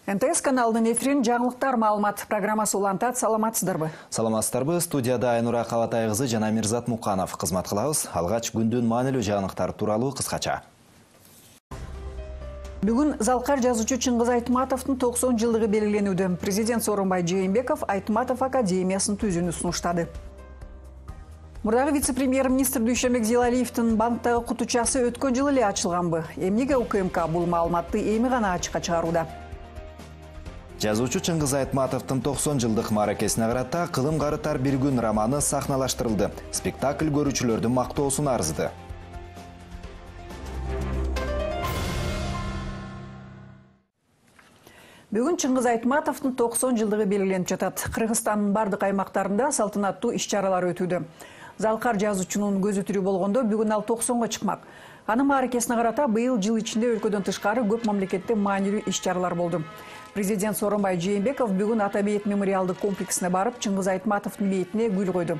НТС каналынын эфирин жаңылыктар маалымат программасы улантат. Саламатсыздарбы? Саламатсыздарбы. Студияда Айнура Калатай кызы жана Мирзат Муканов кызмат кылабыз. Алгач күндүн маанилүү жаңылыктары тууралуу кыскача. Бүгүн Залкар жазуучу Чыңгыз Айтматовдун 90 жылдыгы белгиленүүдө. Президент Сооронбай Жээнбеков Айтматов академиясын түзүүнү сунуштады. Мурдагы вице-премьер-министр Дүйшөнбек Зилалиевдин банктагы кутучасы өткөн жылы эле ачылганбы? Эмнеге УКМК бул маалыматты эми гана ачыкка чыгарууда? Жазуучу Чыңгыз Айтматовдун 90 жылдык мааракесине карата «Кылым карытар бир күн» романы сахналаштырылды. Спектакль көрүүчүлөрдүн мактоосуна арзыды. Бүгүн Чыңгыз Айтматовдун 90 жылдыгы белгиленип жатат. Кыргызстандын бардык аймактарында салтанаттуу иш-чаралар өтүүдө. Залкар жазуучунун көзү тирүү болгондо бүгүн ал 90го чыкмак. Анын мааракесине карата быйыл жыл ичинде өлкөдөн тышкары көп мамлекетте маанилүү иш-чаралар болду. Президент Сооронбай Жээнбеков бүгүн Ата бейит мемориалдык комплексине барып, Чыңгыз Айтматовдун бейитине гүл койду.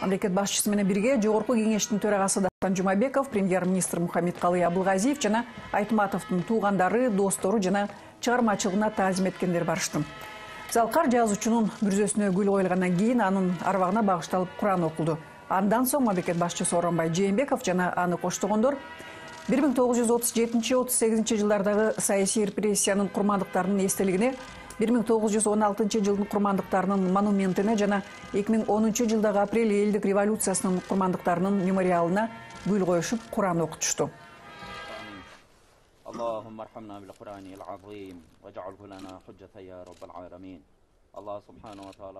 Мамлекет башчысы менен бирге Жогорку кеңештин төрагасы Дастан Жумабеков, премьер-министр Мухаммедкалый Абылгазиев жана Айтматовдун туугандары, достору жана чыгармачылыгына таазим эткендер барышты. Залкар жазуучунун мүрзөсүнө гүл коюлгандан кийин анын арбагына багышталып Куран окулду. Андан соң мамлекет башчысы Сооронбай Жээнбеков жана аны коштогондор 1937-38 жылдардагы саясий репрессиянын курмандыктарынын эстелигине, 1916 жылдын курмандыктарынын монументине жана 2010 жылдагы апрель элдик революциясынын курмандыктарынын мемориалына гүл коюшуп Куран окутушту. اللهم ارحمنا بالقرآن العظيم واجعله لنا حجة يا رب العالمين. الله سبحانه وتعالى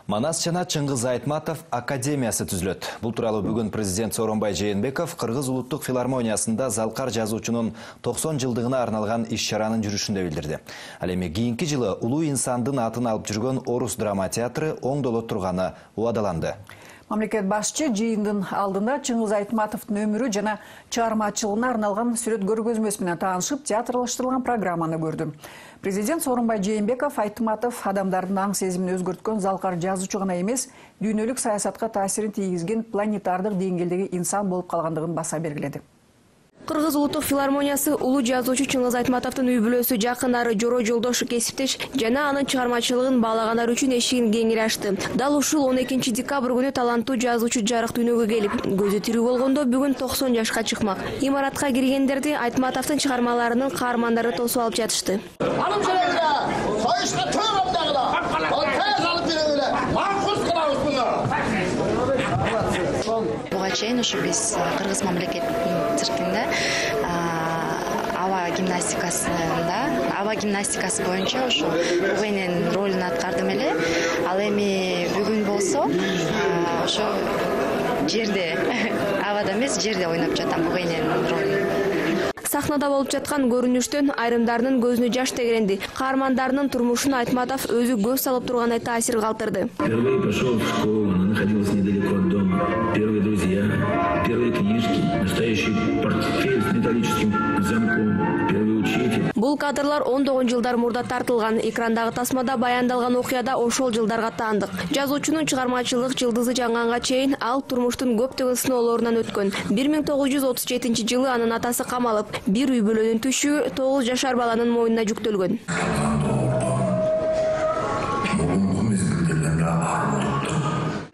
Манас жана Чыңгыз Айтматов академиясы түзүлөт. Бул тууралуу бүгүн президент Сооронбай Жээнбеков Кыргыз улуттук филармониясында Залкар жазуучунун 90 жылдыгына арналган иш-чаранын жүрүшүндө билдирди. Ал эми кийинки жылы улуу инсандын атын алып жүргөн Орус драма театры оңдоло турганы убадаланды. Мамлекет башчы жыйындын алдында Чыңгыз Айтматовдун өмүрү жана чыгармачылыгына арналган сүрөт көргөзмөсү менен таанышып, театрлаштырылган программаны көрдү. Президент Сооронбай Жээнбеков Айтматов адамдардын аң сезимин өзгөрткөн Залкар жазуучу гана эмес, дүйнөлүк саясатка таасирин тийгизген планетардык деңгээлдеги инсан болуп калгандыгын баса белгиледи. Кыргыз улуттук филармониясы улуу жазуучу Чыңгыз Айтматовдун үй-бүлөсү, жакындары, жора жолдошу, кесиптеш жана анын чыгармачылыгын баалагандар үчүн эшигин кеңири ачты. Дал ушул 12 декабрь күнү таланттуу жазуучу жарык дүйнөгө келип, көзү тирүү болгондо бүгүн 90 жашка чыкмак. Имаратка киргендерди Айтматовдун чыгармаларынын каармандары тосуп алып жатышты. Буга чейин ушу биз Кыргыз мамлекеттин циркинде аба гимнастикасы боюнча ушу УГНин ролун аткардым эле. Ал эми бүгүн болсо ошо жерде абада эмес, жерде ойноп жатам УГНин ролун. Сахнада болуп жаткан көрүнүштөн айрымдарынын көзүнө жаш тегеренди. Каармандарынын турмушуна Айтматов өзү көз салып тургандай таасир калтырды. Впервые пошел в школу, она находилась недалеко от дома. Первые друзья, первые книжки, настоящий портфель с металлическим замком, первый учитель. Бул кадрлар 10 жылдар мурда тартылган. Экрандагы тасмада баяндалган окуяда ошол жылдарга таандык. Жазуучунун чыгармачылык жылдызы жаңганга чейин ал турмуштун көптөгөн сыноолорунан өткөн. 1937 жылы анын атасы камалып, бир үй-бүлөнүн түшүгү 9 жашар баланын мойнуна жүктөлгөн.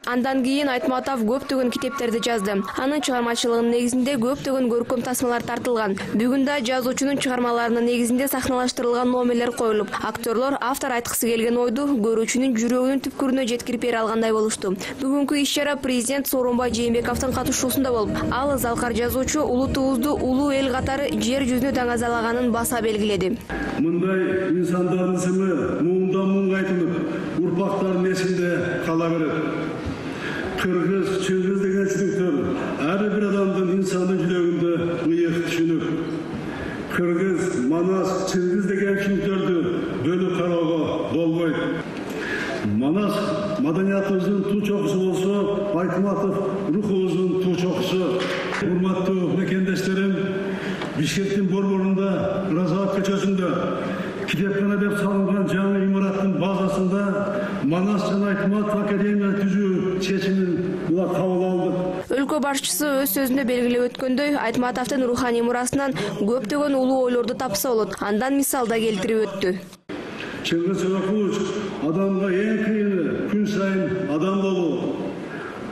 Андан кийин Айтматов көптөгөн китептерди жазды. Анын чыгармачылыгынын негизинде көптөгөн көркөм тасмалар тартылган. Бүгүн да жазуучунун чыгармаларынын негизинде сахналаштырылган номерлер коюлуп, актерлор автор айткысы келген ойду көрүүчүнүн жүрөгүнүн түпкүрүнө жеткирип бере алгандай болушту. Бүгүнкү иш-чара президент Сооронбай Жээнбековдун катышуусунда болуп, ал Залкар жазуучу улутубузду улуу эл катары жер жүзүнө даңазалаганын баса белгиледи. Мындай инсандардын исими муундан муунга айтылып, урпактардын эсинде кала берет. Кыргыз, Чыңгыз деген түсініктер ар бир адамдын инсандын жүрөгүндө ыйык түшүнүк. Кыргыз, Манас, Чыңгыз деген түсініктерди бөлүп кароого болбойт. Манас маданиятыбыздын туу чокусу болсо, Айтматов рухубуздун туу чокусу. Урматтуу мекендештерим, Бишкектин борборунда, Разаат көчөсүндө китепкана деп салынган жаңы имараттын базасында Манас жана Айтматов академия түзүү чечимин кабыл алдык. Өлкө башчысы өз сөзүндө белгилеп өткөндөй, Айтматовдун руханий мурасынан көптөгөн улуу ойлорду тапса болот. Андан мисал да келтирип өттү. Чыңгыз Чоңкулович адамга эң кыйыны күн сайын адам болуу.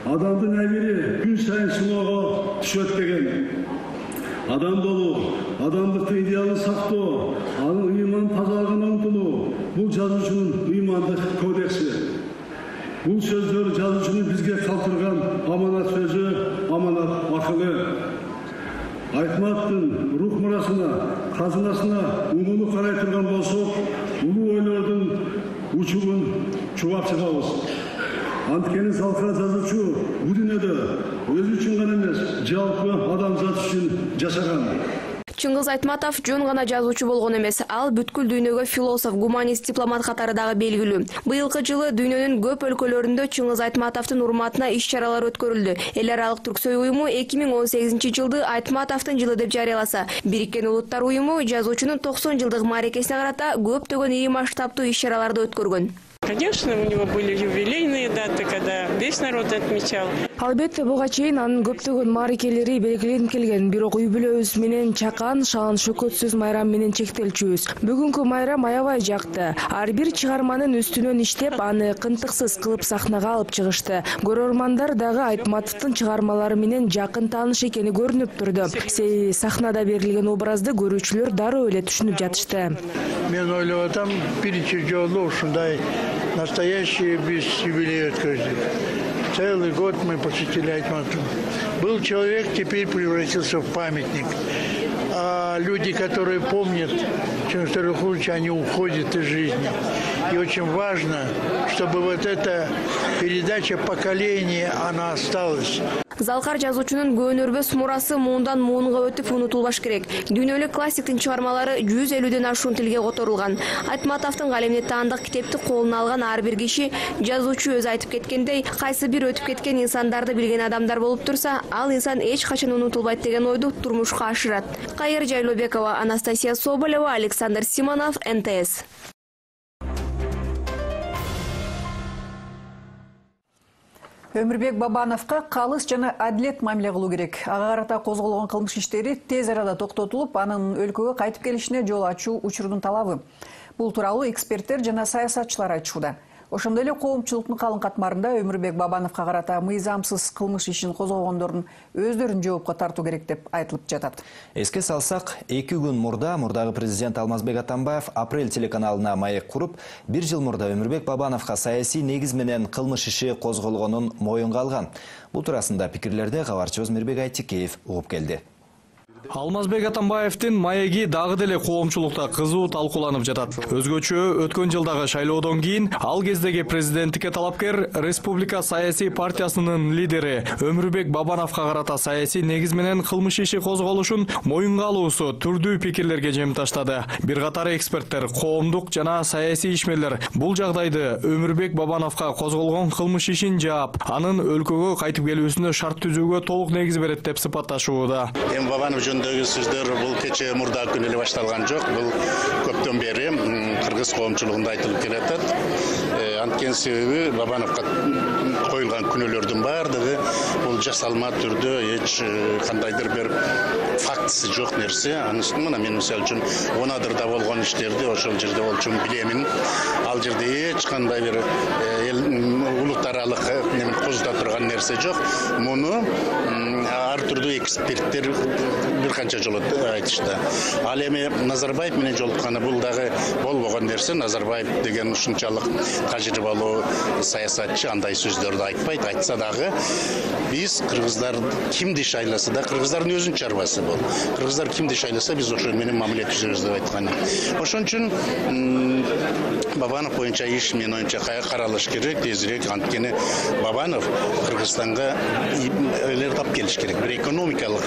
Адамдын абири күн сайын сыноого түшөт деген. Адам болуу, адамдыктын идеалын сактоо, анын ыйман тазалыгына умтулуу бул жазуучунун ыймандык кодекси. Бул сөздөр жазуучунун бизге калтырган аманат сөзү, аманат акылы. Айтматовдун рух мурасына, казынасына улуулук карай турган болсок, улуу ойлордун учугун чубап чыгабыз. Анткени Залкар жазуучу бул дүйнөдө өзү үчүн гана эмес, жалпы адамзат үчүн жашаган. Чыңгыз Айтматов жөн гана жазуучу болгон эмес, ал бүткүл дүйнөгө философ, гуманист, дипломат катары дагы белгилүү. Быйылкы жылы дүйнөнүн көп өлкөлөрүндө Чыңгыз Айтматовдун урматына иш-чаралар өткөрүлдү. Эл аралык Түрксой уюму 2018 жылды Айтматовдун жылы деп жарыяласа, Бириккен Улуттар уюму жазуучунун 90 жылдык мааракесине карата көптөгөн ири масштабтуу иш-чараларды өткөргөн. Конечно, у него были юбилейные даты, когда весь народ отмечал. Албетте, буга чейин анын көптөгөн мааракелери белгиленип келген, бирок үй бүлөбүз менен чакан, шаан, шөкөтсүз майрам менен чектелчүбүз. Бүгүнкү майрам аябай жакты. Ар бир чыгарманын үстүнөн иштеп, аны кынтыксыз кылып сахнага алып чыгышты. Көрөрмандар дагы Айтматовдун чыгармалары менен жакын тааныш экени көрүнүп турду. Себеби сахнада берилген образды көрүүчүлөр дароо эле түшүнүп жатышты. Мен ойлоп атам, биринчи жолу ушундай настоящий биз юбилей открыли. Целый год мы посвятили Айтматову. Был человек, теперь превратился в памятник. А люди, которые помнят Чыңгыз Чоңкуловича, они уходят из жизни. И очень важно, чтобы вот эта передача поколения, она осталась. Залкар жазуучунун көөнөрбөс мурасы муундан муунга өтүп унутулбаш керек. Дүйнөлүк классиктин чыгармалары 150ден ашуун тилге которулган. Айтматовдун калемине таандык китепти колуна алган ар бир киши, жазуучу өзү айтып кеткендей, кайсы бир өтүп кеткен инсандарды билген адамдар болуп турса, ал инсан эч качан унутулбайт деген ойду турмушка ашырат. Кайыр Жайлообекова, Анастасия Соболева, Александр Симонов, НТС. Өмүрбек Бабановго калыс жана адилет мамиле кылуу керек. Ага карата козголгон кылмыш иштери тез арада токтотулуп, анын өлкөгө кайтып келишине жол ачуу учурдун талабы. Бул тууралуу эксперттер жана саясатчылар айтышууда. Ошондой эле коомчулуктун калың катмарында Өмүрбек Бабановго карата мыйзамсыз кылмыш ишин козгогондордун өздөрүн жоопко тартуу керек деп айтылып жатат. Эске салсак, 2 күн мурдагы президент Алмазбек Атамбаев Апрель телеканалына маек куруп, 1 жыл мурда Өмүрбек Бабановго саясий негиз менен кылмыш иши козголгонун моюнга алган. Бул туурасында пикирлерди кабарчыбыз Мирбек Айтикеев угуп келди. Алмазбек Атамбаевдин маеги дагы деле коомчулукта кызуу талкууланып жатат. Өзгөчө өткөн жылдагы шайлоодон кийин ал кездеги президенттикке талапкер Республика саясий партиясынын лидери Өмүрбек Бабановго карата саясий негиз менен кылмыш иши козголушун моюнга алуусу түрдүү пикирлерге жем таштады. Бир катар эксперттер, коомдук жана саясий ишмерлер бул жагдайды Өмүрбек Бабановго козголгон кылмыш ишин жаап, анын өлкөгө кайтып келүүсүнө шарт түзүүгө толук негиз берет деп сыпатташууда. Жөнүндөгү сөздөр бул кече мурда күн эле башталган жок. Бул көптөн бери кыргыз коомчулугунда айтылып келатат. Анткени себеби Бабановго коюлган күнөөлөрдүн баардыгы бул жасалма түрдө эч кандайдыр бир фактысы жок нерсе. Анысы мына мен мисалы үчүн Онадырда болгон иштерди ошол жерде болчун билемин. Ал жерде эч кандай бир улут аралык немен козута турган нерсе жок. Муну ар түрдүү эксперттер бир канча жолу айтышты. Ал эми Назарбаев менен жолукканы бул дагы болбогон нерсе. Назарбаев деген ушунчалык тажрыйбалуу саясатчы андай сөздөрдү айтпайт. Айтса дагы биз кыргыздар кимди шайласа да кыргыздардын өзүнүн чарбасы бул. Кыргыздар кимди шайласа биз ошол менен мамиле түзөбүз деп айткан. Ошон үчүн Бабанов боюнча иш менин оюмча каралыш керек, тезирээк. Анткени Бабанов Кыргызстанга элер тап келиш керек. Бир экономикалык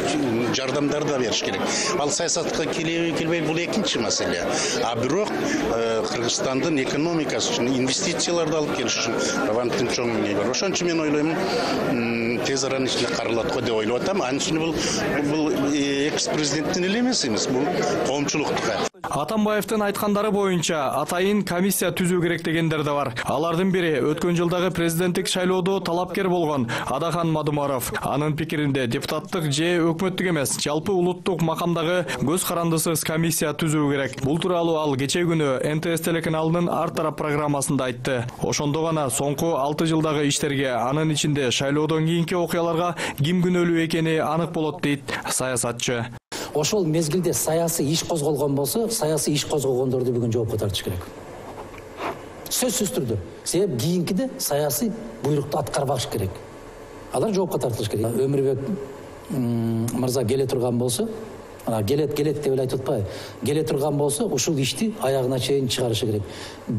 жардамдар да бериш керек. Ал саясатка келбей бул экинчи маселе. А бирок Кыргызстандын экономикасы үчүн инвестицияларды алып келиш үчүн Бабановдун чоң эмне бар. Ошон үчүн мен ойлойм, тез аранын ичинде каралат го деп ойлоп атам. Анын үчүн бул экс-президенттин эле эмес, бул коомчулуктука. Атамбаевдин айткандары боюнча атайын комиссия түзүү керек дегендер да бар. Алардын бири өткөн жылдагы президенттик шайлоодо талапкер болгон Адахан Мадумаров. Анын пикиринде депутаттык же өкмөттүк эмес, жалпы улуттук макамдагы көз карандысыз комиссия түзүү керек. Бул тууралуу ал кече күнү НТС телеканалынын ар тарап программасында айтты. Ошондо гана соңку 6 жылдагы иштерге, анын ичинде шайлоодон кийинки окуяларга ким күнөөлүү экени анык болот дейт саясатчы. Ошол мезгилде саясий иш козголгон болсо, саясий иш козгогондорду бүгүн жоопко тартыш керек. Сөзсүз түрдө. Себеп кийинкиде саясий буйрукту аткарбаш керек. Алар жоопко тартылыш керек. Өмүрбек мырза келе турган болсо, келет деп эле айтып атпайбы? Келе турган болсо, ушул ишти аягына чейин чыгарышы керек.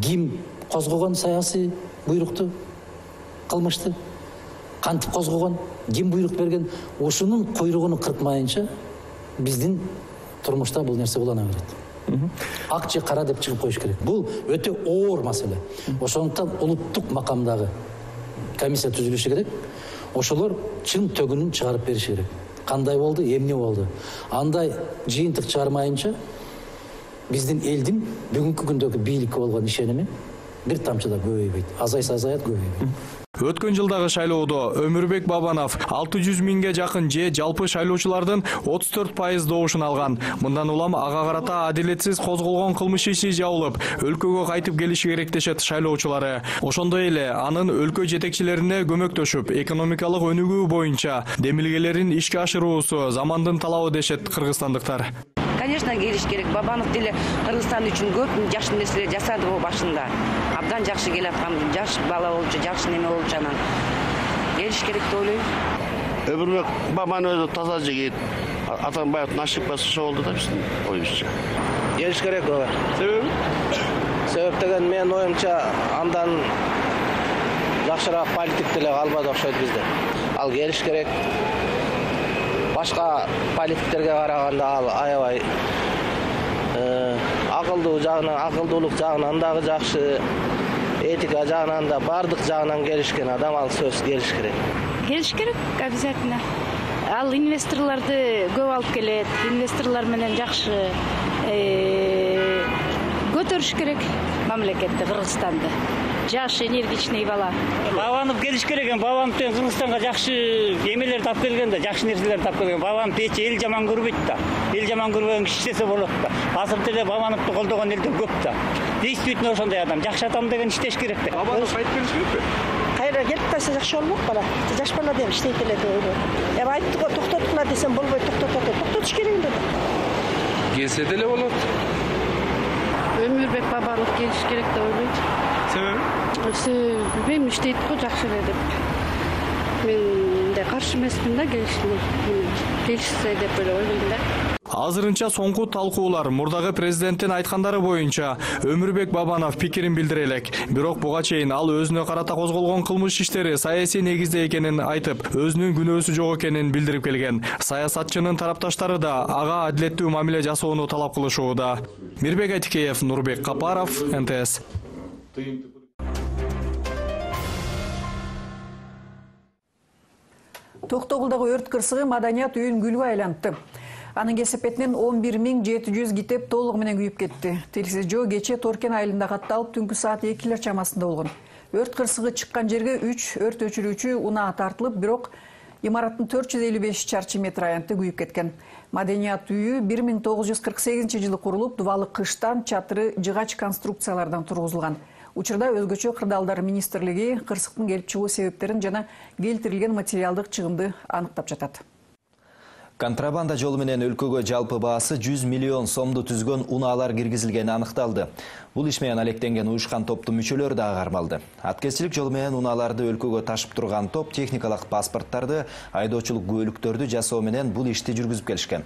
Ким козгогон саясий буйрукту, кылмышты? Кантип козгогон? Ким буйрук берген? Ушунун куйругун кыркмайынча биздин турмушта бул нерсе улана берет. Ак же кара деп чыгып коюш керек. Бул өтө оор маселе. Ошондуктан улуттук макамдагы комиссия түзүлүшү керек. Ошолор чын төгүнүн чыгарып бериши керек. Кандай болду, эмне болду? Андай жыйынтык чыгармайынча биздин элдин бүгүнкү күндөгү бийликке болгон ишеними бир тамчы да көбөйбөйт. Азайса азаят, көбөйбөйт. Өткөн жылдагы шайлоодо Өмүрбек Бабанов 600 миңге жакын же жалпы шайлоочулардын 34% добушун алган. Мындан улам ага карата адилетсиз козголгон кылмыш иши жабылып, өлкөгө кайтып келиши керек дешет шайлоочулары. Ошондой эле анын өлкө жетекчилерине көмөктөшүп, экономикалык өнүгүү боюнча демилгелерин ишке ашыруусу замандын талабы дешет кыргызстандыктар. Конечно, келиш керек. Бабанов деле Кыргызстан үчүн көп жакшы нерселер жасады го башында. Абдан жакшы келаткан, жаш бала болчу, жакшы неме болчу анан. Келиш керек деп ойлойм. Өмүрбек Бабанов өзү таза жигит. Атамбаевдин ошибкасы ошо болду да биздин оюбузча. Келиш керек ага. Себеп деген менин оюмча андан жакшыраак политик деле калбады окшойт бизде. Ал келиш керек. Башка политиктерге караганда ал аябай акылдуу жагынан, акылдуулук жагынан дагы жакшы, этика жагынан да бардык жагынан келишкен адам, ал сөз келиш керек. Келиш керек обязательно. Ал инвесторлорду көп алып келет, инвесторлор менен жакшы көтөрүш керек мамлекетти, Кыргызстанды. Жаш, энергичный бала. Бабанов келиш керек экен. Бабанов деген Кыргызстанга жакшы эмелерди алып келген да, жакшы нерселерди алып келген. Бабанов эч эл жаман көрбөйт да. Эл жаман көрбөгөн киши иштесе болот да. Азыр деле Бабановду колдогон элдер көп да. Действительно ошондой адам, жакшы адам деген иштеш керек да. Бабанов кайтып келиш керекпи? Кайра келип калса жакшы болмок бала. Жаш бала деп иштейт эле деп ойлойм. Эми айтты го токтоткула десем болбойт, токтотуш керек эле. Келсе деле болот. Өмүрбек Бабанов келиш керек деп ойлойм. Себеби иштейт го жакшы эле деп. Мен да каршы эмесмин да келишсе деп ойлойм да. Азырынча соңку талкуулар мурдагы президенттин айткандары боюнча Өмүрбек Бабанов пикирин билдире элек. Бирок буга чейин ал өзүнө карата козголгон кылмыш иштери саясий негизде экенин айтып, өзүнүн күнөөсү жок экенин билдирип келген. Саясатчынын тарапташтары да ага адилеттүү мамиле жасоону талап кылышууда. Мирбек Айтикеев, Нурбек Капаров, НТС. Токтогулдагы өрт кырсыгы маданият үйүн күлгө айлантты. Анын кесепетинен 11700 китеп толугу менен күйүп кетти. Тилсиз жөө кече Торкен айылында катталып, түнкү саат 2 чамасында болгон. Өрт кырсыгы чыккан жерге 3 өрт өчүрүүчү унаа тартылып, бирок имараттын 455 чарчы метр аянты күйүп кеткен. Маданият үйү 1948-жылы курулуп, дубалы кыштан, чатыры жыгач конструкциялардан тургузулган. Учурда өзгөчө кырдаалдар министрлиги кырсыктын келип чыгуу себептерин жана келтирилген материалдык чыгымды аныктап жатат. Контрабанда жолу менен өлкөгө жалпы баасы 100 миллион сомду түзгөн унаалар киргизилгени аныкталды. Бул иш менен алектенген уюшкан топтун мүчөлөрү да кармалды. Аткезчилик жолу менен унааларды өлкөгө ташып турган топ техникалык паспорттарды, айдоочулук күбөлүктөрдү жасоо менен бул ишти жүргүзүп келишкен.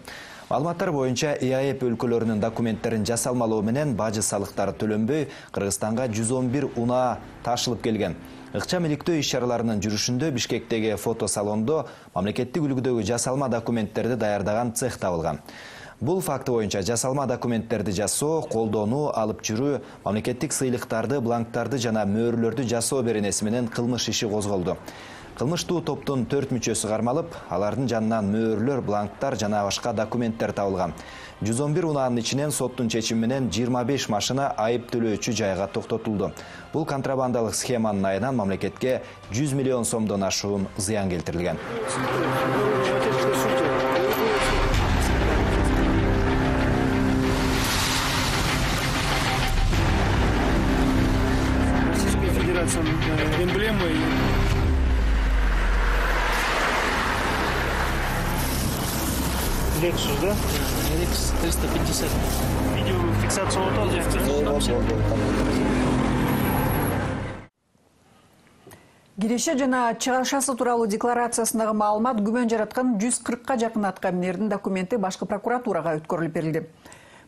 Маалыматтар боюнча ИАЭП өлкөлөрүнүн документтерин жасалмалоо менен бажы салыктары төлөнбөй, Кыргызстанга 111 унаа ташылып келген. Ыкчам иликтөө иш-чараларынын жүрүшүндө Бишкектеги фотосалондо мамлекеттик үлгүдөгү жасалма документтерди даярдаган цех табылган. Бул факты боюнча жасалма документтерди жасоо, колдонуу, алып жүрүү, мамлекеттик сыйлыктарды, бланктарды жана мөөрлөрдү жасоо беренеси менен кылмыш иши козголду. Кылмыштуу топтун 4 мүчөсү кармалып, алардын жанынан мөөрлөр, бланктар жана башка документтер табылган. 111 унаанын ичинен соттун чечими менен 25 машина айып төлөөчү жайга токтотулду. Бул контрабандалык схеманын айынан мамлекетке 100 миллион сомдон ашуун зыян келтирилген. Эмблемы. Lexus, да? Lexus 350. Видеофиксация Киреше жана чыгашасы тууралуу декларациясындагы маалымат күмөн жараткан 140ка жакын аткаминердин документи башкы прокуратурага өткөрүлүп берилди.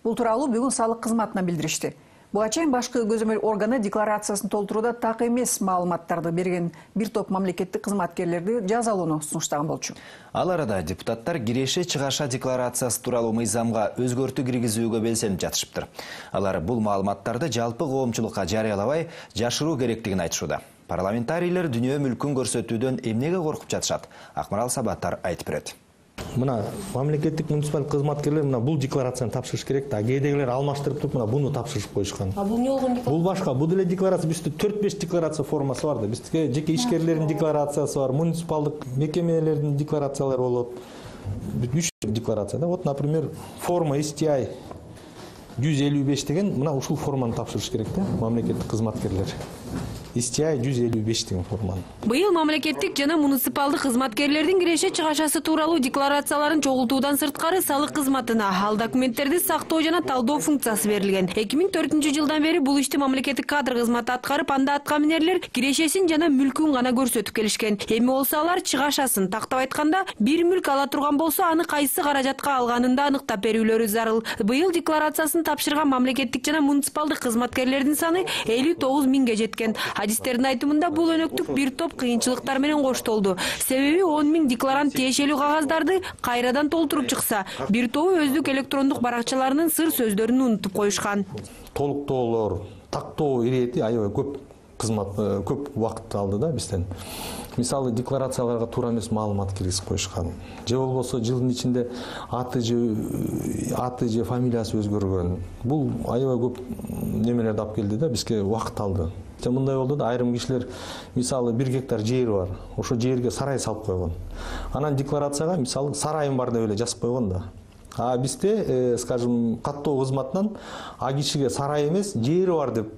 Бул тууралуу бүгүн салык кызматына билдиришти. Буга чейин башкы көзөмөл органы декларациясын толтурууда так эмес маалыматтарды берген бир топ мамлекеттик кызматкерлерди жазалоону сунуштаган болчу. Ал арада депутаттар киреше чыгаша декларациясы тууралуу мыйзамга өзгөртүү киргизүүгө белсенип жатышыптыр. Алар бул маалыматтарды жалпы коомчулукка жарыялабай жашыруу керектигин айтышууда. Парламентарийлер дүйнө мүлкүн көрсөтүүдөн эмнеге коркуп жатышат? Акмарал Сабаттар айтып берет. Мына мамлекеттик муниципалдык кызматкерлер мына бул декларацияны тапшырыш керек да. Кээдегилер алмаштырып туруп мына буну тапшырып коюшкан. А бул эмне болгон декларация? Бул башка, бул деле декларация бизде 4-5 декларация формасы бар да. Бизде жеке ишкерлердин декларациясы бар, муниципалдык мекемелердин декларациялары болот. 3 декларация да. Вот, например, форма STI 155 деген мына ушул форманы тапшырыш керек да мамлекеттик кызматкерлер. STI 155 деген форманы. Быйыл мамлекеттик жана муниципалдык кызматкерлердин киреше чыгашасы тууралуу декларацияларын чогултуудан сырткары салык кызматына ал документтерди сактоо жана талдоо функциясы берилген. 2004-жылдан бери бул ишти мамлекеттик кадр кызматы аткарып, анда аткаминерлер кирешесин жана мүлкүн гана көрсөтүп келишкен. Эми болсо алар чыгашасын, тактап айтканда, бир мүлк ала турган болсо, аны кайсы каражатка алганын да аныктап берүүлөрү зарыл. Быйыл декларациясын тапшырган мамлекеттик жана муниципалдык кызматкерлердин саны 59 миңге жеткен. Адистердин айтымында бул өнөктүк бир топ кыйынчылыктар менен коштолду. Себеби 10 миң декларант тиешелүү кагаздарды кайрадан толтуруп чыкса, бир тобу өздүк электрондук баракчаларынын сыр сөздөрүн унутуп коюшкан. Толуктоолор, тактоо ирети аябай көп убакыт алды да бизден. Мисалы декларацияларга туура эмес маалымат киргизип коюшкан. Же болбосо жылдын ичинде аты же фамилиясы өзгөргөн. Бул аябай көп немелерди алып келди да, бизге убакыт алды. Мындай болду да, айрым кишилер мисалы 1 гектар жери бар, ошо жерге сарай салып койгон. Анан декларацияга мисалы сарайым бар деп эле жазып койгон да. А бизде, скажем, каттоо кызматынан а кишиге сарай эмес, жери бар деп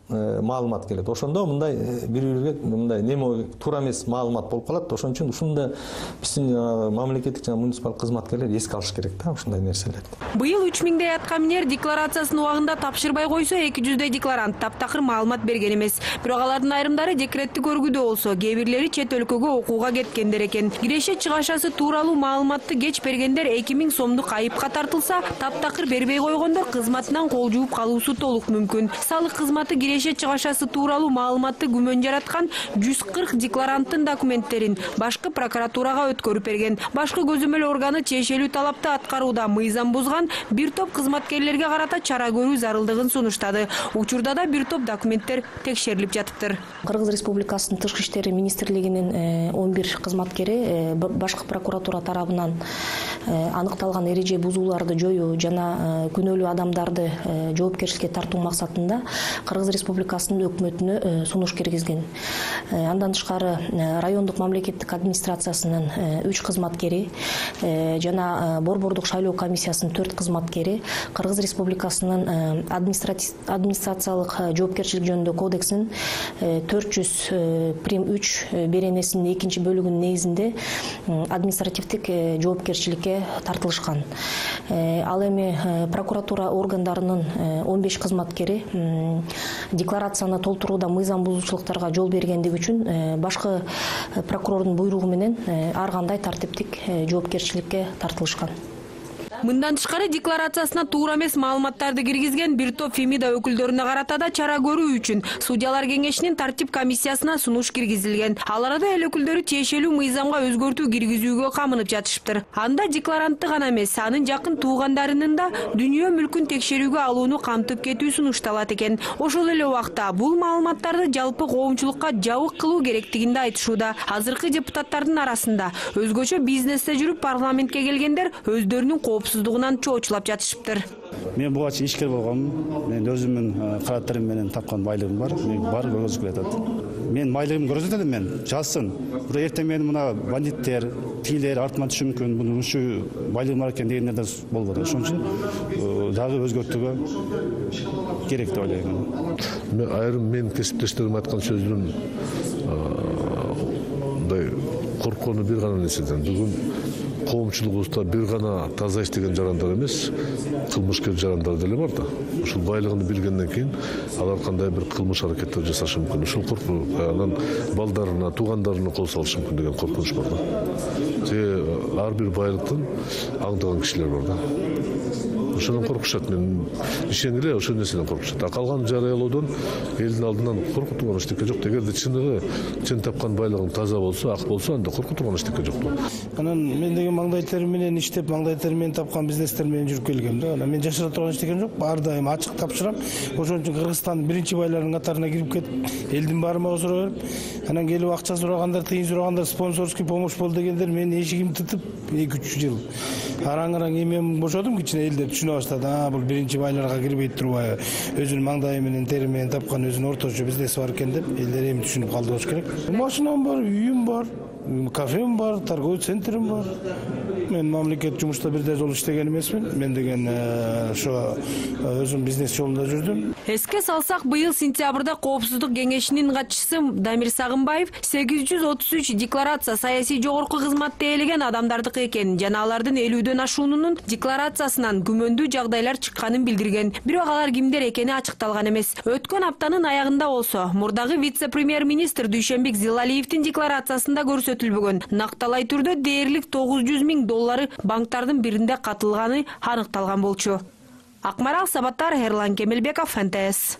маалымат келет. Ошондо мындай бири-бирге мындай неме туура эмес маалымат болуп калат. Ошон үчүн ушунда биздин мамлекеттик жана муниципалдык кызматкерлер эске алыш керек да ушундай нерселерди. Быйыл 3 миңдей аткаминер декларациясын убагында тапшырбай койсо, 200 декларант таптакыр маалымат берген эмес. Бирок алардын айрымдары декреттик өргүдө болсо, кээ бирлери чет өлкөгө окууга кеткендер экен. Киреше чыгашасы тууралуу маалыматты кеч бергендер 2000 сомдук айыпка тартылса, таптакыр бербей койгондор кызматынан кол жууп калуусу толук мүмкүн. Салык кызматы киреше чыгашасы тууралуу маалыматты күмөн жараткан 140 декларанттын документтерин башкы прокуратурага өткөрүп берген. Башкы көзөмөл органы тиешелүү талапты аткарууда мыйзам бузган бир топ кызматкерлерге карата чара көрүү зарылдыгын сунуштады. Учурда да бир топ документтер текшерилип жатыптыр. Кыргыз Республикасынын Тышкы иштери министрлигинин 11 кызматкери башкы прокуратура тарабынан аныкталган эреже бузууларды жоюу жана күнөөлүү адамдарды жоопкерчиликке тартуу максатында Кыргыз Республикасынын өкмөтүнө сунуш киргизген. Андан тышкары райондук мамлекеттик администрациясынын 3 кызматкери жана борбордук шайлоо комиссиясынын 4 кызматкери Кыргыз Республикасынын администрациялык жоопкерчилик жөнүндө кодексинин 400 прим 3 беренесинин 2-бөлүгүнүн негизинде административдик жоопкерчиликке тартылышкан. Ал эми прокуратура органдарынын 15 кызматкери декларацияны толтурууда мыйзам бузуучулуктарга жол бергендиги үчүн башкы прокурордун буйругу менен ар кандай тартиптик жоопкерчиликке тартылышкан. Мындан тышкары декларациясына туура эмес маалыматтарды киргизген бир топ Фемида өкүлдөрүнө карата да чара көрүү үчүн судьялар кеңешинин тартип комиссиясына сунуш киргизилген. Ал арада эл өкүлдөрү тиешелүү мыйзамга өзгөртүү киргизүүгө камынып жатышыптыр. Анда декларантты гана эмес, анын жакын туугандарынын да дүйнө мүлкүн текшерүүгө алууну камтып кетүү сунушталат экен. Ошол эле убакта бул маалыматтарды жалпы коомчулукка жабык кылуу керектигинде айтышууда. Азыркы депутаттардын арасында өзгөчө бизнесте жүрүп парламентке келгендер өздөрүнүн коопсуздугунан чоочулап жатышыптыр. Мен буга чейин ишкер болгонмун. Мен өзүмдүн караттарым менен тапкан байлыгым бар. Мен бар көрсөтүп жатат. Мен байлыгымды көрсөтөт элем мен. Жазсын. Бирок эртең менин мына бандиттер, тигилер артыма түшүшү мүмкүн. Бунун ушу байлыгым бар экен дегендер да болбойт. Ошон үчүн дагы өзгөртүүгө керек деп ойлойм. Мен айрым мен кесиптештерим айткан сөздүн мындай корккону бир гана нерседен. Бүгүн коомчулугубузда бир гана таза иштеген жарандар эмес, кылмышкер жарандар деле бар да. Ушул байлыгын билгенден кийин алар кандай бир кылмыш аракеттер жасашы мүмкүн. Ушул коркуу, анан балдарына, туугандарына кол салышы мүмкүн деген коркунуч бар да. Ар бир байлыктан аңдыган кишилер бар да. Ошондон коркушат. Мен ишенгиле ошол нерседен коркушат. Калган жарыялоодон элдин алдынан коркуп турган эчтеке жок. Эгерде чын тапкан байлыгың таза болсо, ак болсо, анда коркуп турган эчтеке жок. Анан мен деген маңдай терим менен иштеп, маңдай терим менен тапкан бизнестер менен жүрүп келгем да. Анан мен жашыра турган эчтекем жок. Ар дайым ачык тапшырам. Ошон үчүн Кыргызстандын биринчи байларынын катарына кирип кетип, элдин барымага суроо берип, анан келип акча сурагандар, тыйын сурагандар, спонсорский помощь болду дегендер менин эшигимди тытып 2-3 жыл. Араң-араң эмен бошодум, кичине элдер түшүнө баштады. Бул биринчи байларга кирбей турбайбы? Өзүнүн маңдайы менен, тери менен тапкан өзүнүн орточо бизнеси бар экен деп элдер эми түшүнүп калды болуш керек. Машинам бар, үйүм бар, кафем бар, торговый центрим бар. Мен мамлекет жумушта бирдей жол иштеген эмесмин. Мен деген ошо өзүм бизнес жолунда жүрдүм. Эске салсак, быйыл сентябрда Коопсуздук кеңешинин катчысы Дамир Сагынбаев 833 декларация саясий жогорку кызматты ээлеген адамдардыкы экенин жана алардын 50дөн ашуунун декларациясынан күмөндүү жагдайлар чыкканын билдирген. Бирок алар кимдер экени ачыкталган эмес. Өткөн аптанын аягында болсо, мурдагы вице-премьер-министр Дүйшөнбек Зилалиевдин декларациясында көрсөтүлбөгөн накталай түрдө дээрлик $900,000 банктардын биринде катылганы аныкталган болчу. Акмарал Сабаттар, Ерлан Кемелбеков, НТС.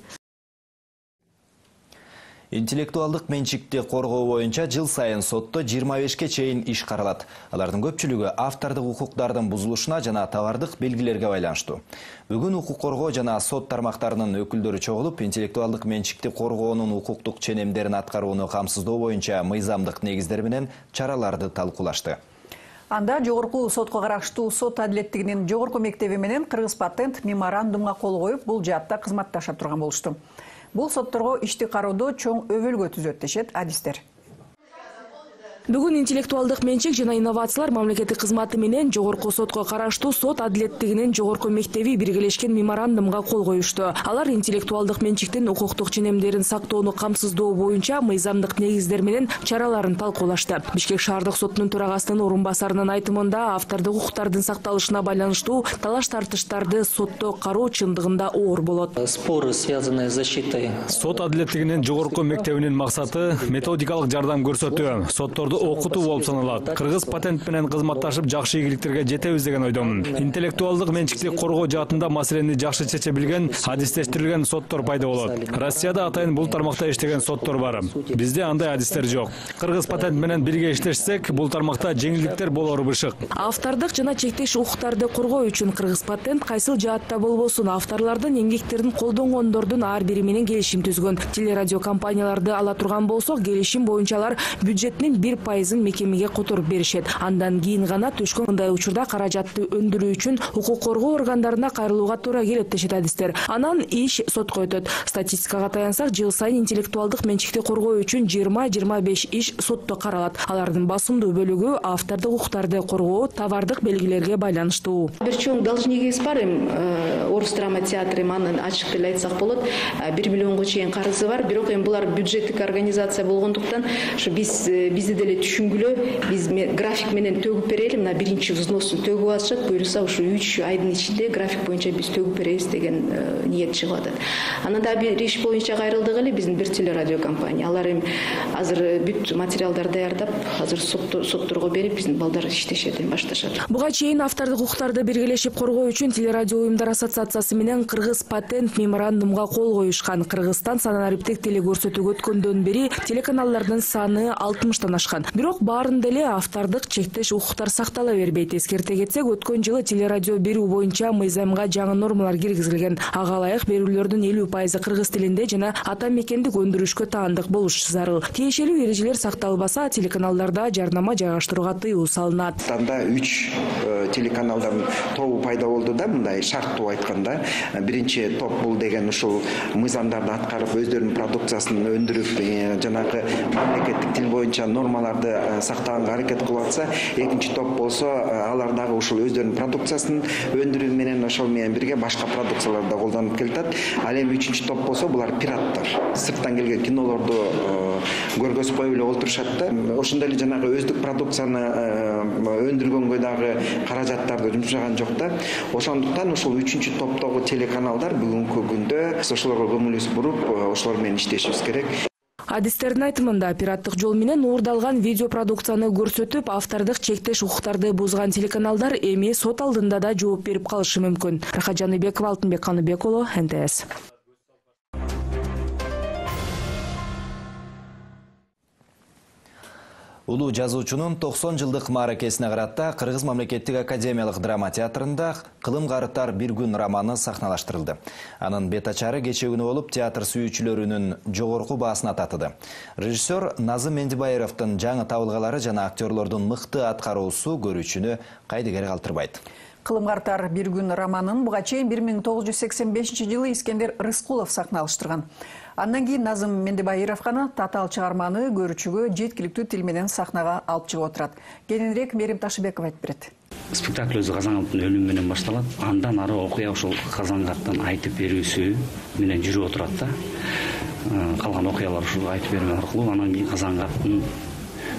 Интеллектуалдык менчикти коргоо боюнча жыл сайын сотто 25ке чейин иш каралат. Алардын көпчүлүгү автордук укуктардын бузулушуна жана товардык белгилерге байланыштуу. Бүгүн укук коргоо жана сот тармактарынын өкүлдөрү чогулуп, интеллектуалдык менчикти коргоонун укуктук ченемдерин аткарууну камсыздоо боюнча мыйзамдык негиздер менен чараларды талкуулашты. Анда жогорку сотко караштуу сот адилеттигинин жогорку мектеби менен Кыргыз патент меморандумга кол коюп, бул жаатта кызматташа турган болушту. Бул сотторго ишти кароодо чоң өбөлгө түзөт дешет адистер. Бүгүн интеллектуалдык менчик жана инновациялар мамлекеттик кызматы менен жогорку сотко караштуу сот адилеттигинин жогорку мектеби биргелешкен меморандумга кол коюшту. Алар интеллектуалдык менчиктин укуктук ченемдерин сактоону камсыздоо боюнча мыйзамдык негиздер менен чараларын талкуулашты. Бишкек шаардык сотунун төрагасынын орун басарынын айтымында автордук укуктардын сакталышына байланыштуу талаш-тартыштарды сотто кароо чындыгында оор болот. Споры, связанные с защитой. Сот адилеттигинин жогорку мектебинин максаты методикалык жардам көрсөтүү, сотторду окутуу болуп саналат. Кыргыз патент менен кызматташып жакшы ийгиликтерге жетебиз деген ойдомун. Интеллектуалдык менчикти коргоо жаатында маселени жакшы чече билген, адистештирилген соттор пайда болот. Россияда атайын бул тармакта иштеген соттор бар. Бизде андай адистер жок. Кыргыз патент менен бирге иштешсек, бул тармакта жеңилдиктер болору бышык. Автордук жана чектеш укуктарды коргоо үчүн Кыргыз патент кайсыл жаатта болбосун авторлордун эмгектерин колдонгондордун ар бири менен келишим түзгөн. Телерадио компанияларды ала турган болсок, келишим боюнча алар бюджеттин 1% мекемеге которуп беришет. Андан кийин гана төшкөн мындай учурда каражатты өндүрүү үчүн укук коргоо органдарына кайрылууга туура келет дешет адистер. Анан иш сотко өтөт. Статистикага таянсак, жыл сайын интеллектуалдык менчикти коргоо үчүн 20-25 иш сотто каралат. Алардын басымдуу бөлүгү автордук укуктарды коргоо, товардык белгилерге байланыштуу. Бир чоң должнигибиз бар, Орус драма театры аны ачык деле айтсак болот. 1 миллионго чейин карызы бар. Бирок булар бюджеттик организация болгондуктан, биз деле эле түшүнгүлө биз график менен төгүп берели, мына биринчи взносун төгүп алышат, буюрса ушу 3 айдын ичинде график боюнча биз төгүп беребиз деген ниет чыгып атат. Анан да бир иш боюнча кайрылдык эле биздин бир телерадио компания. Алар эми азыр бүт материалдар даярдап, азыр сотторго берип биздин балдар иштешет, башташат. Буга чейин автордук укуктарды биргелешип коргоо үчүн Телерадио уюмдар ассоциациясы менен Кыргыз патент меморандумга кол коюшкан. Кыргызстан санариптик телекөрсөтүүгө өткөндөн бери телеканалдардын саны 60тан ашкан. Бирок баарында эле автордук чектеш укуктар сактала бербейт. Эскерте кетсек, өткөн жылы телерадио берүү боюнча мыйзамга жаңы нормалар киргизилген. Ага ылайык берүүлөрдүн 50% кыргыз тилинде жана ата мекендик өндүрүшкө таандык болушу зарыл. Тиешелүү эрежелер сакталбаса, телеканалдарда жарнама жайгаштырууга тыюу салынат. Танда 3 телеканалдардын тобу пайда болду да, мындай шарттуу айтканда. Биринчи топ бул деген ушул мыйзамдарды аткарып, өздөрүнүн продукциясын өндүрүп, жанагы мамлекеттик тил боюнча нормаларды сактаганга аракет кылып атса, экинчи топ болсо алар дагы ушул өздөрүнүн продукциясын өндүрүү менен ошол менен бирге башка продукцияларды да колдонуп келатат. Ал эми үчүнчү топ болсо булар пираттар. Сырттан келген кинолорду көргөзүп коюп эле олтурушат да. Ошондой эле жанагы өздүк продукцияны өндүргөнгө дагы каражаттарды жумшаган жок да. Ошондуктан ушул үчүнчү топтогу телеканалдар бүгүнкү күндө ошолорго көңүлүбүз буруп, ошолор менен иштешибиз керек. Адистердин айтымында, пираттык жол менен уурдалган видео продукцияны көрсөтүп, автордук чектеш укуктарды бузган телеканалдар эми сот алдында да жооп берип калышы мүмкүн. Рахат Жаныбекова, Алтынбек Каныбек уулу, НТС. Улуу жазуучунун 90 жылдык мааракесине карата Кыргыз мамлекеттик академиялык драма театрында «Кылым карытар бир күн» романы сахналаштырылды. Анын бет ачары кечээ күнү болуп, театр сүйүүчүлөрүнүн жогорку баасын татыды. Режиссер Назым Мендибаевдин жаңы табылгалары жана актерлордун мыкты аткаруусу көрүүчүнү кайдыгер калтырбайт. «Кылым карытар бир күн» романын буга чейин 1985-жылы Искендер Рыскулов сахналаштырган. Андан кийин Назым Мендибаев гана татаал чыгарманы көрүүчүгө жеткиликтүү тил менен сахнага алып чыгып отурат. Кененирээк Мерим Ташыбекова айтып берет. Спектакль өзү Казангаптын өлүмү менен башталат. Андан ары окуя ошол Казангаттын айтып берүүсү менен жүрүп отурат да. Калган окуялар ушул айтып берүү аркылуу, анан кийин Казангаттын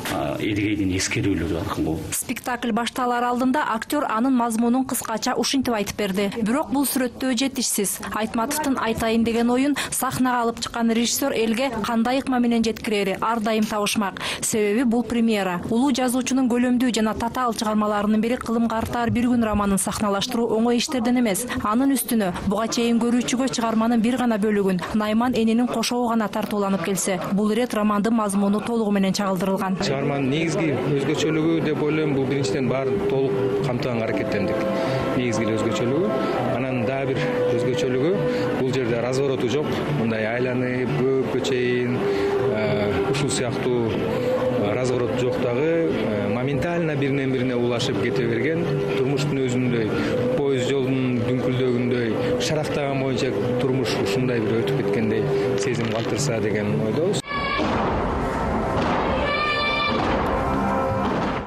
эдигейдин эскерүүлөрү аркылуу. Спектакль башталар алдында актер анын мазмунун кыскача ушинтип айтып берди. Бирок бул сүрөттөө жетишсиз. Айтматовдун айтайын деген оюн сахнага алып чыккан режиссер элге кандай ыкма менен жеткирери ар дайым табышмак. Себеби бул премьера. Улуу жазуучунун көлөмдүү жана татаал чыгармаларынын бири «Кылым карытар бир күн» романын сахналаштыруу оңой иштерден эмес. Анын үстүнө буга чейин көрүүчүгө чыгарманын бир гана бөлүгүн Найман эненин кошогу гана тартууланып келсе, бул ирет романдын мазмуну толугу менен чагылдырылган. Чыгарманын негизги өзгөчөлүгү деп ойлойм, бул биринчиден баарын толук камтыганга аракеттендик. Негизги өзгөчөлүгү, анан дагы бир өзгөчөлүгү, бул жерде развороту жок, мындай айланып, көчейин, ушул сыяктуу разворот жок дагы, моментально биринен бирине улашып кете берген, турмуштун өзүндөй, поезд жолдун дүңкүлдөгүндөй, шарактаган боюнча турмуш ушундай бир өтүп кеткендей сезим калтырса деген ойдобуз.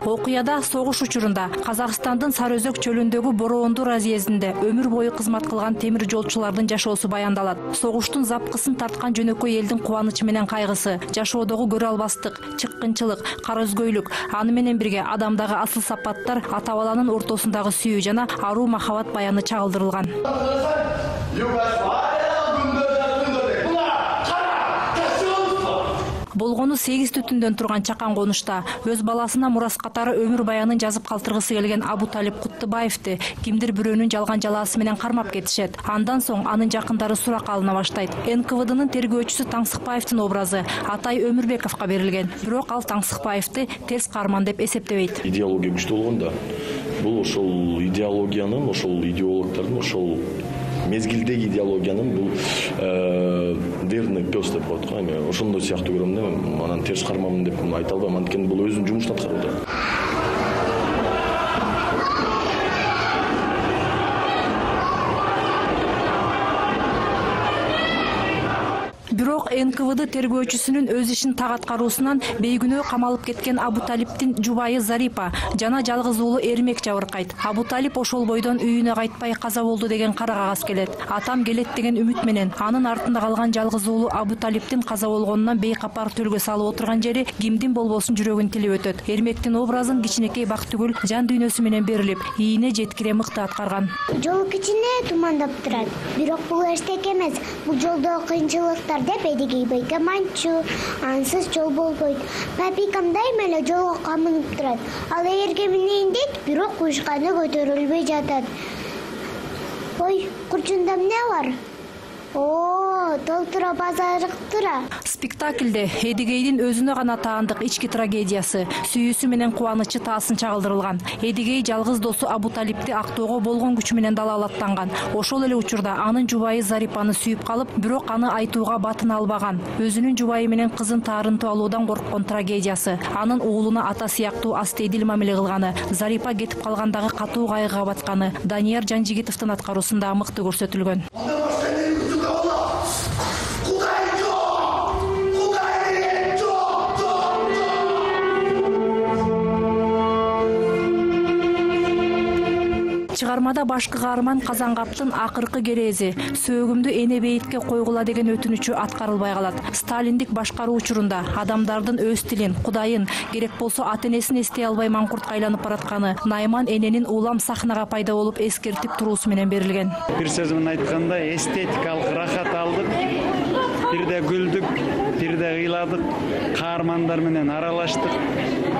Окуяда согуш учурунда Казакстандын Сары Өзөк чөлүндөгү Бороондуу разъездинде өмүр бою кызмат кылган темир жолчулардын жашоосу баяндалат. Согуштун запкысын тарткан жөнөкөй элдин кубанычы менен кайгысы, жашоодогу көрө албастык, чыккынчылык, кара өзгөйлүк, аны менен бирге адамдагы асыл сапаттар, ата баланын ортосундагы сүйүү жана аруу махабат баяны чагылдырылган. Болгону 8 түтүндөн турган чакан конушта өз баласына мурас катары өмүр баянын жазып калтыргысы келген Абуталип Куттыбаевди кимдир бирөөнүн жалган жалаасы менен кармап кетишет. Андан соң анын жакындары сурак алына баштайт. НКВДнын тергөөчүсү Таңсыкбаевдин образы Атай Өмүрбековго берилген. Бирок ал Таңсыкбаевди терс каарман деп эсептебейт. Идеология күчтүү болгондо бул ошол идеологиянын, ошол идеологдордун, ошол мезгилдеги идеологиянын бул верный пес деп коет го. Эми ошондой сыяктуу көрөм да, анан терс кармамын деп айта албайм, анткени бул өзүнүн жумушун аткарууда. Бирок Бирок НКВД тергөөчүсүнүн өз ишин так аткаруусунан бейгүнөө камалып кеткен Абуталиптин жубайы Зарипа жана жалгыз уулу Эрмек жабыркайт. Абуталип ошол бойдон үйүнө кайтпай каза болду деген кара кагаз келет. Атам келет деген үмүт менен анын артында калган жалгыз уулу Абуталиптин каза болгонунан бейкапар төлгө салып отурган жери кимдин болбосун жүрөгүн тилип өтөт. Эрмектин образын кичинекей Бактыгүл жан дүйнөсү менен берилип, ийине жеткире мыкты аткарган. Жол кичине тумандап турат. Бирок бул эчтек эмес. Бул жолдо кыйынчылыктар деп Эдигей байка манчу, ансыз жол болбойт. Папикам дайыма эле жолго камынып турат. Ал эгерге минейин дейт, бирок куйшканы көтөрүлбөй жатат. Ой, курчунда эмне бар? Толтура базарыктыра. Спектаклде Эдигейдин өзүнө гана таандык ички трагедиясы, сүйүүсү менен кубанычы таасын чагылдырылган. Эдигей жалгыз досу Абуталипти актоого болгон күчү менен далалаттанган. Ошол эле учурда анын жубайы Зарипаны сүйүп калып, бирок аны айтууга батына албаган. Өзүнүн жубайы менен кызын таарынтып алуудан корккон трагедиясы. Анын уулуна ата сыяктуу астейдил мамиле кылганы, Зарипа кетип калгандагы катуу кайгыга батканы Данияр Жанжигитовдун аткаруусунда мыкты көрсөтүлгөн. Чыгармада башкы каарман Казангаптын акыркы керези, сөөгүмдү эне бейитке койгула деген өтүнүчү аткарылбай калат. Сталиндик башкаруу учурунда адамдардын өз тилин, Кудайын, керек болсо ата-энесин эстей албай маңкуртка айланып баратканы Найман эненин улам сахнага пайда болуп эскертип туруусу менен берилген. Бир сөз менен айтканда, эстетикалык рахат алдык, бирде күлдүк, бирде ыйладык, каармандар менен аралаштык,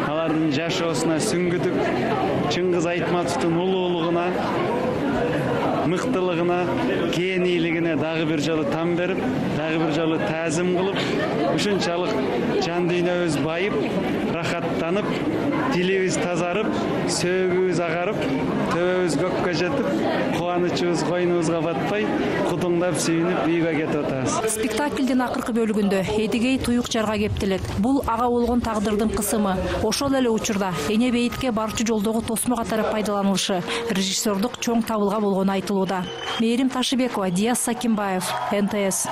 алардын жашоосуна сүңгүдүк. Чыңгыз Айтматовдун улуулугуна, мыктылыгына, кээнийлигине дагы бир жолу там берип, дагы бир жолу таазим кылып, ушунчалык жан дүйнөбүз байып, рахаттанып, тилибиз тазарып, сөөгүбүз агарып, төбөбүз көккө жетип, кубанычыбыз койнубузга батпай, кудуңдап сүйүнүп үйгө кетип атабыз. Спектаклдин акыркы бөлүгүндө Эдигей туюк жарга кептелет. Бул ага болгон тагдырдын кысымы. Ошол эле учурда эне бейитке барчу жолдогу тосмо катары пайдаланылышы режиссердук чоң табылга болгону айтылууда. Мээрим Ташыбекова, Диас Сакимбаев, НТС.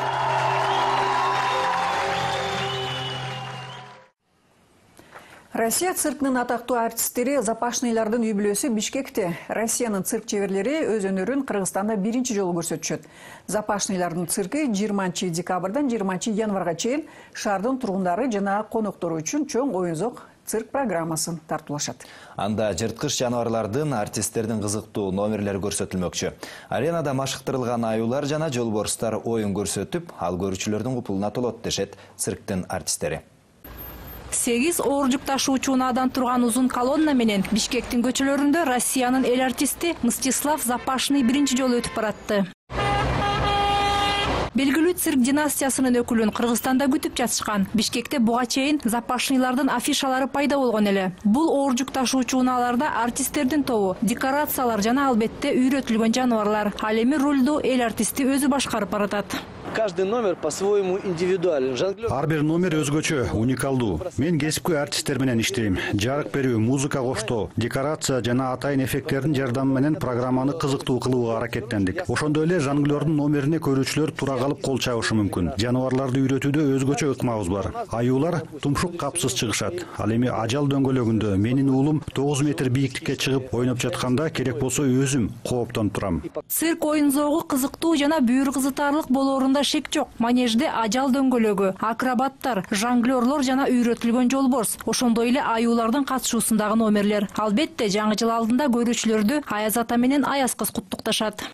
Россия циркынын атактуу артисттери Запашныйлардын үй бүлөсү Бишкекте. Россиянын цирк чеберлери өз өнөрүн Кыргызстанда биринчи жолу көрсөтүшөт. Запашныйлардын цирки 20 декабрдан 20 январга чейин шаардын тургундары жана коноктору үчүн чоң оюнзок цирк программасын тартуулашат. Анда жырткыч жаныбарлардын, артисттердин кызыктуу номерлери көрсөтүлмөкчү. Аренада машыктырылган аюулар жана жолборстар оюн көрсөтүп, ал көрүүчүлөрдүн купулуна толот дешет цирктин артисттери. 8 оор жүк ташуучу унаадан турган узун колонна менен Бишкектин көчөлөрүндө Россиянын эл артисти Мстислав Запашный биринчи жолу өтүп баратты. Белгилүү цирк династиясынын өкүлүн Кыргызстанда күтүп жатышкан. Бишкекте буга чейин Запашныйлардын афишалары пайда болгон эле. Бул оор жүк ташуучу унааларда артисттердин тобу, декорациялар жана албетте үйрөтүлгөн жаныбарлар. Ал эми рулду эл артисти өзү башкарып баратат. Каждый номер по-своему индивидуален. Ар бир номер өзгөчө, уникалдуу. Мен кесипкөй артисттер менен иштейм. Жарык берүү, музыка коштоо, декорация жана атайын эффекттердин жардамы менен программаны кызыктуу кылууга аракеттендик. Ошондой эле жонглердун номерине көрүүчүлөр тура калып кол чабышы мүмкүн. Жаныбарларды үйрөтүүдө өзгөчө ыкмабыз бар. Аюулар тумшук капсыз чыгышат. Ал эми ажал дөңгөлөгүндө менин уулум 9 метр бийиктикке чыгып ойноп жатканда керек болсо өзүм кооптонуп турам. Цирк оюнзогу кызыктуу жана бүйүр кызытарлык болоорунда шек жок. Манежде ажал дөңгөлөгү, акробаттар, жонглерлор жана үйрөтүлгөн жолборс, ошондой эле аюулардын катышуусундагы номерлер. Албетте жаңы жыл алдында көрүүчүлөрдү Аяз ата менен Аяз кыз куттукташат.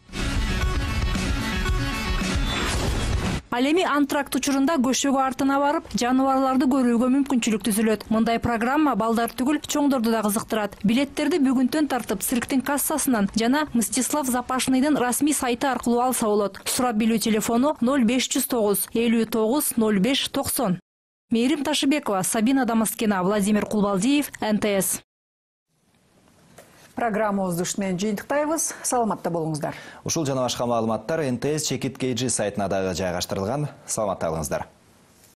Ал эми антракт учурунда көшөгө артына барып, жаныбарларды көрүүгө мүмкүнчүлүк түзүлөт. Мындай программа балдар түгүл, чоңдорду да кызыктырат. Билеттерди бүгүнтөн тартып цирктин кассасынан жана Мстислав Запашныйдын расмий сайты аркылуу алса болот. Сурап билүү телефону 0509 59 05 90. Мээрим Ташыбекова, Сабина Дамаскина, Владимир Кулбалдиев, НТС. Программабызды ушун менен жыйынтыктайбыз. Саламатта болуңуздар. Ушул жана башка маалыматтар НТС Чекит KG сайтына дагы жайгаштырылган. Саламатта калыңыздар.